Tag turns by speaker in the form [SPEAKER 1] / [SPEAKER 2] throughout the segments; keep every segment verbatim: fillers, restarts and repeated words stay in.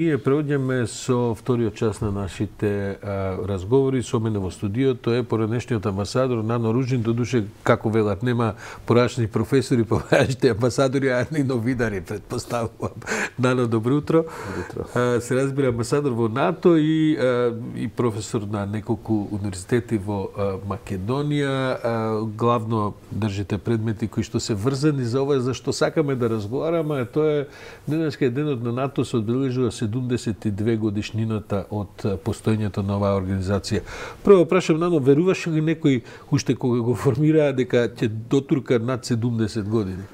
[SPEAKER 1] Ние преоѓаме со вториот час на нашите а, разговори. Со мене во студиото е поранешниот амбасадор Нано Ружин. Додуше, како велат, нема порашни професори, порашните амбасадори, а и новинари, предпоставувам. Нано, добро утро.
[SPEAKER 2] Добро.
[SPEAKER 1] А, се разбира, амбасадор во НАТО и, а, и професор на неколку универзитети во а, Македонија. А, главно држите предмети кои што се врзани за ова, за што сакаме да разговараме. Тоа е денеска е денот на НАТО, се одбележува седумдесет и две годишнината од постоењето на оваа организација. Прво прашам, Нано, веруваше ли некој уште кога го формираа дека ќе дотурка над седумдесет години?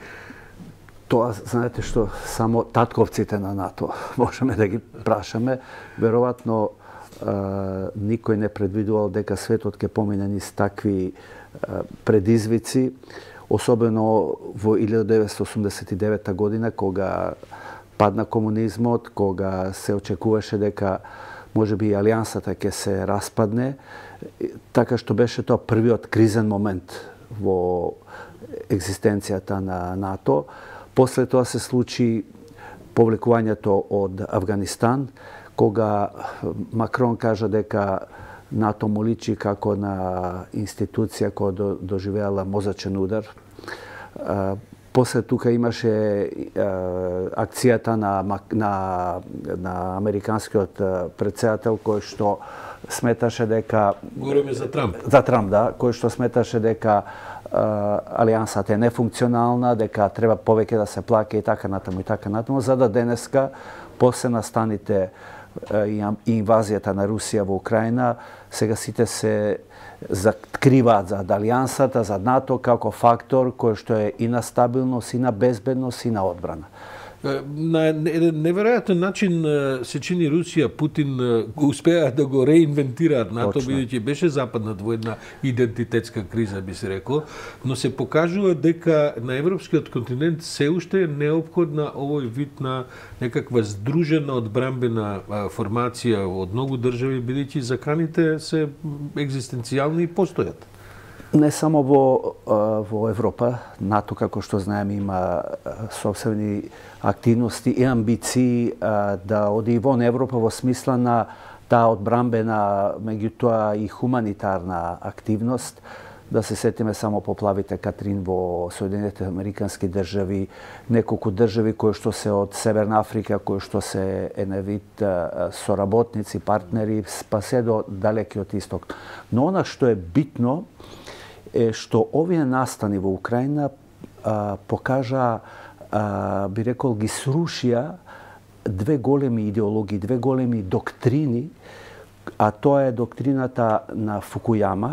[SPEAKER 2] Тоа, знаете што, само татковците на НАТО можеме да ги прашаме. Веројатно никој не предвидувал дека светот ќе помине низ такви а, предизвици, особено во илјада деветстотини осумдесет и девета година, кога падна комунизмот, кога се очекуваше дека можеби и алијансата ќе се распадне, така што беше тоа првиот кризен момент во екзистенцијата на НАТО. После тоа се случи повлекувањето од Авганистан, кога Макрон кажа дека НАТО му личи како на институција која доживеала мозачен удар. После тука имаше е, акцијата на, на, на американскиот претседател кој што сметаше дека...
[SPEAKER 1] Говориме за Трамп.
[SPEAKER 2] За Трамп, да. Кој што сметаше дека е, алијансата е нефункционална, дека треба повеќе да се плаќа и така натаму и така натаму, за да денеска, после настаните и инвазијата на Русија во Украина, сега сите се закриваат за алијансата, за НАТО како фактор кој што е и на стабилност, и на безбедност, и на одбрана.
[SPEAKER 1] На еден неверојатен начин се чини Русија, Путин го успеа да го реинвентираат НАТО, бидејќи беше западнат во една идентитетска криза, би се рекло, но се покажува дека на европскиот континент се уште е неопходна овој вид на некаква здружена одбранбена формација од многу држави, бидејќи заканите се екзистенцијални и постојат.
[SPEAKER 2] Не само во, во Европа, НАТО, како што знаеме, има собствени активности и амбиции да оди вон Европа во смисла на таа одбранбена, меѓутоа и хуманитарна активност. Да се сетиме само поплавите Катрин во Соединетите американски држави, неколку држави кои што се од Северна Африка, кои што се еден вид соработници, партнери, па се до далекиот исток. Но она што е битно е што овие настани во Украина а, покажа, а, би рекол, ги срушија две големи идеологии, две големи доктрини, а тоа е доктрината на Фукујама,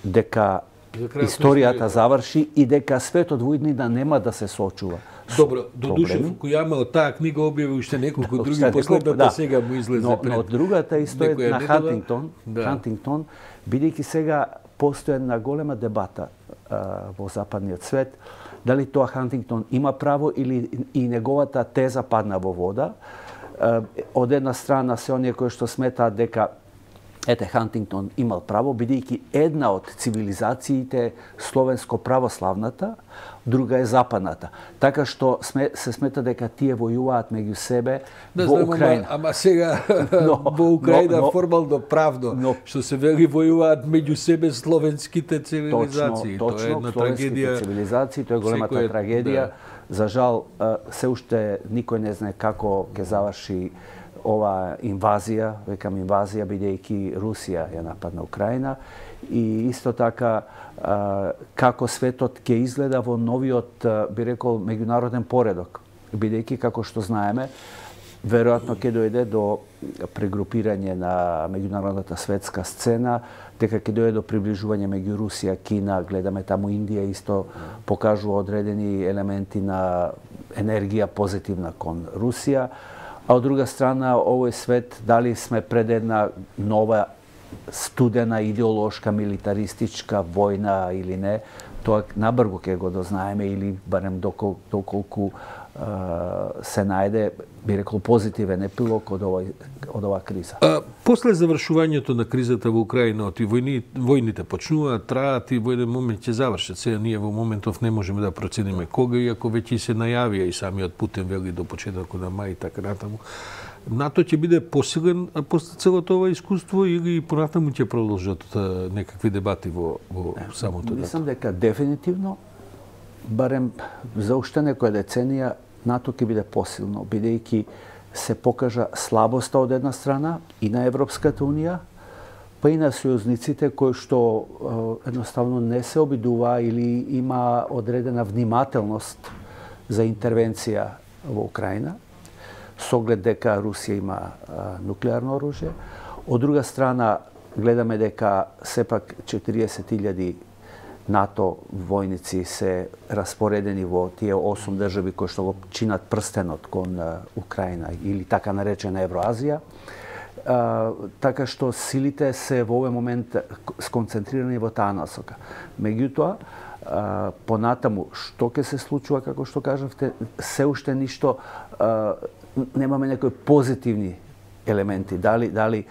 [SPEAKER 2] дека историјата заврши и дека светот во иднина нема да се соочува.
[SPEAKER 1] Добро, додуше Фукујама од таа книга објави уште неколку други, последната да. Сега му излезе
[SPEAKER 2] но,
[SPEAKER 1] пред.
[SPEAKER 2] Но другата историјата на Хантингтон,
[SPEAKER 1] да.
[SPEAKER 2] Хантингтон, бидејќи сега постои една голема дебата а, во западниот свет, дали тоа Хантингтон има право или и неговата теза падна во вода. А, од една страна се оние кои што сметаат дека ете Хантингтон имал право, бидејќи една од цивилизациите словенско-православната, друга е западната. Така што сме, се смета дека тие војуваат меѓу себе
[SPEAKER 1] да,
[SPEAKER 2] во
[SPEAKER 1] знам,
[SPEAKER 2] Украина.
[SPEAKER 1] Ама, ама сега но, во Украина но, формално правно, но, што се вели војуваат меѓу себе словенските цивилизации.
[SPEAKER 2] Точно, точно, тоа е една трагедија. Цивилизации, тоа е големата е, трагедија. Да. За жал, се уште никој не знае како ќе заврши ова инвазија, векам инвазија, бидејќи Русија ја нападна Украина, и исто така како светот ќе изгледа во новиот, би рекол, меѓународен поредок, бидејќи, како што знаеме, веројатно ќе дојде до прегрупирање на меѓународната светска сцена, дека ќе дојде до приближување меѓу Русија, Кина, гледаме таму Индија исто покажува одредени елементи на енергија позитивна кон Русија. А од друга страна, овој свет, дали сме пред една нова студена идеолошка, милитаристичка војна или не, тоа набрзо ќе го дознаеме или барем докол, доколку uh, се најде, би рекол, позитивен епилог од овој од оваа криза.
[SPEAKER 1] А, после завршувањето на кризата во Украина, и војни, војните почнуваат, траат и во еден момент ќе завршат. Сега ние во моментов не можеме да процениме кога, иако веќе се најавија и самиот Путин вели до почетокот на мај и така натаму. НАТО ќе биде посилен после целото ова искуство или понатаму ќе продолжат некакви дебати во, во самото НАТО?
[SPEAKER 2] Мислам дека дефинитивно, барем за уште некоја деценија, НАТО ќе биде посилно, бидејќи се покажа слабоста од една страна и на Европската унија, па и на сојузниците кои што е, едноставно не се обидува или има одредена внимателност за интервенција во Украина, со оглед дека Русија има а, нуклеарно оружје. Од друга страна, гледаме дека сепак четириесет илјади НАТО војници се распоредени во тие осум држави кои што го чинат прстенот кон а, Украина или така наречена Евроазија. А, така што силите се во овој момент сконцентрирани во таа насока. Меѓутоа, а, понатаму, што ќе се случува, како што кажавте, се уште ништо, а, немаме некои позитивни елементи. Дали, дали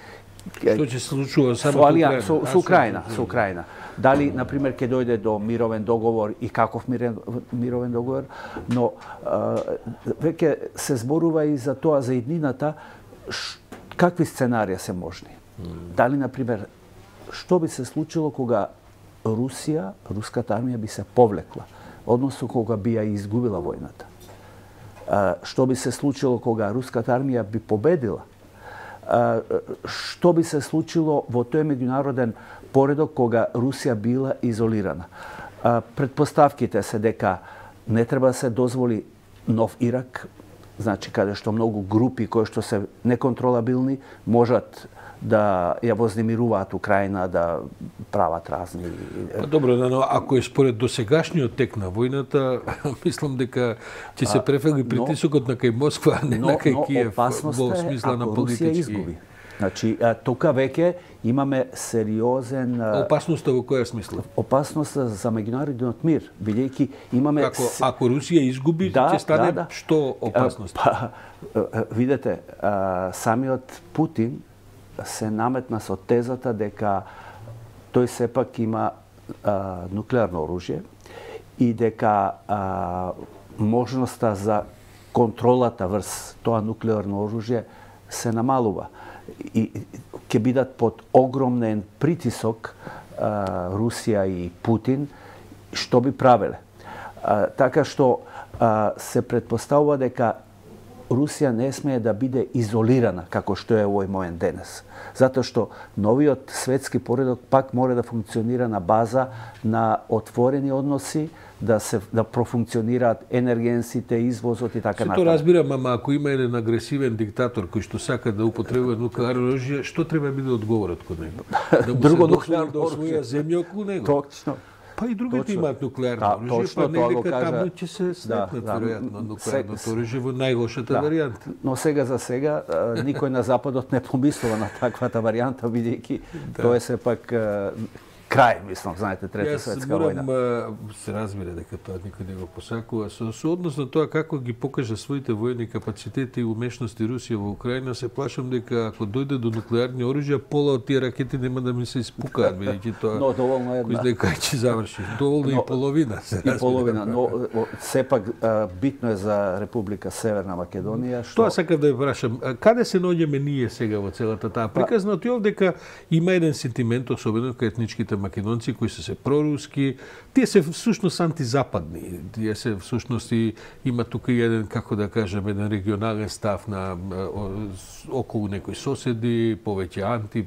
[SPEAKER 1] што ќе се случува само
[SPEAKER 2] со Украина? Со, со Украина, со Украина. Дали, например, ќе дојде до мировен договор и каков мирен, мировен договор, но а, веќе се зборува и за тоа, за иднината, ш, какви сценарија се можни. Mm. Дали, например, што би се случило кога Русија, руската армија би се повлекла, односно кога би ја изгубила војната? А, што би се случило кога руската армија би победила? А, што би се случило во тој меѓународен поредок кога Русија била изолирана? А, предпоставките се дека не треба да се дозволи нов Ирак, значи каде што многу групи кои што се неконтролабилни можат да ја вознемируваат Украина, да прават разни...
[SPEAKER 1] Па добро, но ако е според досегашниот тек на војната, мислам дека ќе се префели притисокот на кај Москва, а не
[SPEAKER 2] но,
[SPEAKER 1] на кај
[SPEAKER 2] но,
[SPEAKER 1] Киев во смисла на политички.
[SPEAKER 2] Русија изгуби. Значи, тука веќе имаме сериозен...
[SPEAKER 1] Опасноста во која смисла?
[SPEAKER 2] Опасноста за меѓународниот мир, бидејќи имаме...
[SPEAKER 1] Како, ако Русија изгуби,
[SPEAKER 2] да,
[SPEAKER 1] ќе стане
[SPEAKER 2] да, да.
[SPEAKER 1] што опасност?
[SPEAKER 2] Па, видете, самиот Путин се наметна со тезата дека тој сепак има а, нуклеарно оружје и дека а, можноста за контролата врз тоа нуклеарно оружје се намалува. И ќе бидат под огромен притисок а, Русија и Путин, што би правеле. А, така што а, се предпоставува дека Русија не смее да биде изолирана, како што е овој момент денес. Затоа што новиот светски поредок пак мора да функционира на база на отворени односи, да се да профункционираат енергенсите, извозот и така натаму.
[SPEAKER 1] Се тоа разбирам, ама ако има еден агресивен диктатор кој што сака да употребува нуклеарно оружје, што треба да биде одговорот кон него? Да му
[SPEAKER 2] Друго
[SPEAKER 1] се
[SPEAKER 2] нуклеарно
[SPEAKER 1] да освоја земја околу него.
[SPEAKER 2] Точно.
[SPEAKER 1] Па и другите
[SPEAKER 2] точно.
[SPEAKER 1] имаат нуклеарно
[SPEAKER 2] да,
[SPEAKER 1] оружје,
[SPEAKER 2] точно,
[SPEAKER 1] па нека
[SPEAKER 2] кажа...
[SPEAKER 1] таму ќе се стекнат,
[SPEAKER 2] да,
[SPEAKER 1] веројатно,
[SPEAKER 2] да,
[SPEAKER 1] нуклеарното оружје во најлошата
[SPEAKER 2] да.
[SPEAKER 1] варијанта.
[SPEAKER 2] Но сега за сега никој на Западот не помислува на таквата варијанта, бидејќи да. Тоа е сепак крај, мислам, знаете, Трета светска војна.
[SPEAKER 1] Јас се разбира дека тоа никој не го посакува. Со, со однос на тоа како ги покажа своите војни капацитети и умешности Русија во Украина, се плашам дека ако дојде до нуклеарни оружја, пола од тие ракети нема да ми се испукаат, бидејќи тоа...
[SPEAKER 2] Но доволно една.
[SPEAKER 1] Кој дека ќе заврши. Доволно но, и половина, се разбира.
[SPEAKER 2] И половина, но сепак битно е за Република Северна Македонија, што...
[SPEAKER 1] Тоа сакав да ја прашам. Каде се наоѓаме ние сега во целата таа приказна? Од јов дека има еден сентимент, особено кај етничките македонци кои се се проруски, тие се всушност антизападни. Тие се всушност и има тука и еден, како да кажем, еден регионален став на околу некои соседи, повеќе анти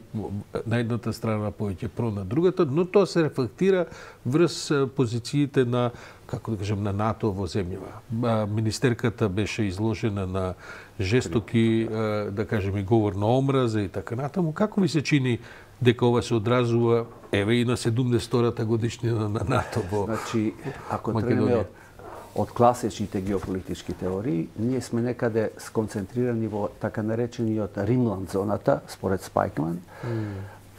[SPEAKER 1] на едната страна, повеќе про на другата, но тоа се рефлектира врз позициите на, како да кажем, на НАТО во земјава. Министерката беше изложена на жестоки, да кажем, и говор на омраза и така натаму. Како ви се чини дека ова се одразува, еве и на седумдесетата годишнина на НАТО во
[SPEAKER 2] Значи, ако тренеме од, од класичните геополитички теории, ние сме некаде сконцентрирани во така наречениот Римланд зоната, според Спајкман, mm.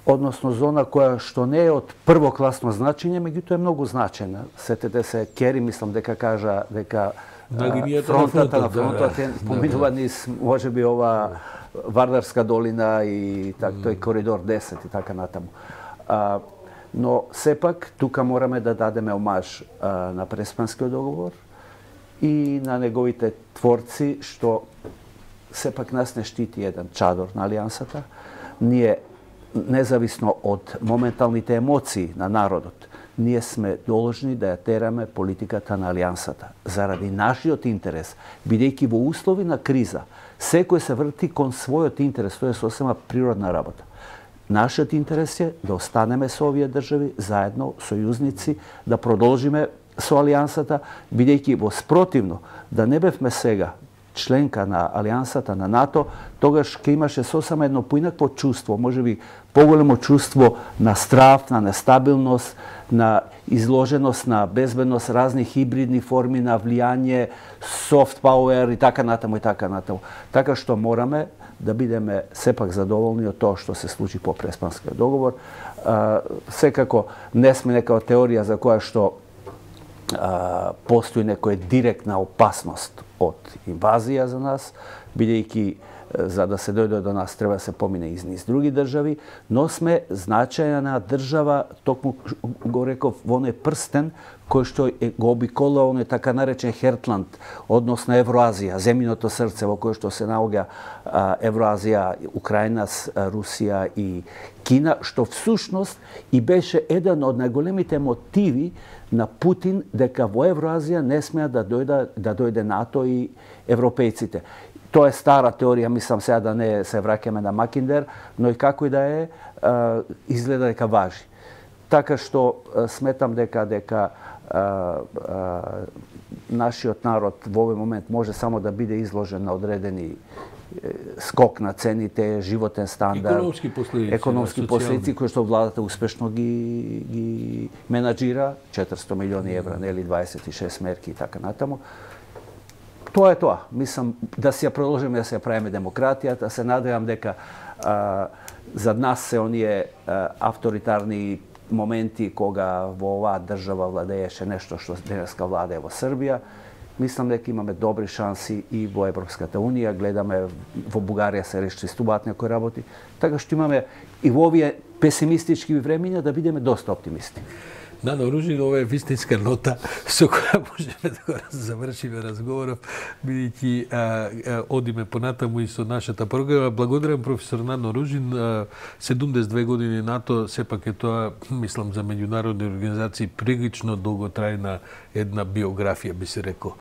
[SPEAKER 2] односно зона која што не е од првокласно значење, меѓутоа е многу значена. Сетете се, Кери, мислам дека кажа дека
[SPEAKER 1] на линијата
[SPEAKER 2] фронтата
[SPEAKER 1] на
[SPEAKER 2] на фронтот е поминува низ можеби ова Вардарска долина и так, тој коридор десет и така натаму. А, но сепак тука мораме да дадеме омаж а, на Преспанскиот договор и на неговите творци што сепак нас не штити еден чадор на Алијансата. Ние, независно од моменталните емоции на народот, ние сме должни да ја тераме политиката на Алијансата. Заради нашиот интерес, бидејќи во услови на криза, секој се врти кон својот интерес, тоа е сосема природна работа. Нашиот интерес е да останеме со овие држави, заедно, сојузници, да продолжиме со Алијансата, бидејќи во спротивно, да не бевме сега членка на Алијансата, на НАТО, тогаш ќе имаше сосема едно поинакво чувство, можеби поголемо чувство на страв, на нестабилност, на изложеност на безбедност, разни хибридни форми на влијание, soft power и така натаму и така натаму. Така што мораме да бидеме сепак задоволни од тоа што се случи по Преспанскиот договор. А, секако не сме нека теорија за која што а, постои некоја директна опасност од инвазија за нас, бидејќи за да се дојде до нас треба да се помине из низ други држави, но сме значајна држава, токму го реков, во оној прстен кој што е, го обикола оној така наречен Хертланд, односно Евроазија, земјиното срце во кое што се наоѓа а, Евроазија, Украина, Русија и Кина, што всушност и беше еден од најголемите мотиви на Путин дека во Евроазија не смеа да дојде, да дојде НАТО и европејците. Тоа е стара теорија, мислам сега да не се враќаме на Макиндер, но и како и да е, изгледа дека важи. Така што сметам дека дека а, а, нашиот народ во овој момент може само да биде изложен на одредени скок на цените, животен стандард,
[SPEAKER 1] економски последици,
[SPEAKER 2] економски последици кои што владата успешно ги ги менаџира, четиристо милиони евра, нели дваесет и шест мерки и така натаму. Тоа е тоа. Мислам да си ја продолжиме да се ја правиме демократијата, се надевам дека а, за нас се оние а, авторитарни моменти кога во оваа држава владееше нешто што денеска владее во Србија. Мислам дека имаме добри шанси и во Европската унија, гледаме во Бугарија се решчистуваат некои работи, така што имаме и во овие песимистички времиња да бидеме доста оптимисти.
[SPEAKER 1] Нано Ружин, ова е вистинска нота со која можеме да го завршиме разговоров, бидејќи одиме понатаму и со нашата програма. Благодарам професор Нано Ружин. седумдесет и две години НАТО, сепак е тоа, мислам, за меѓународни организации прилично долготрајна една биографија, би се рекол.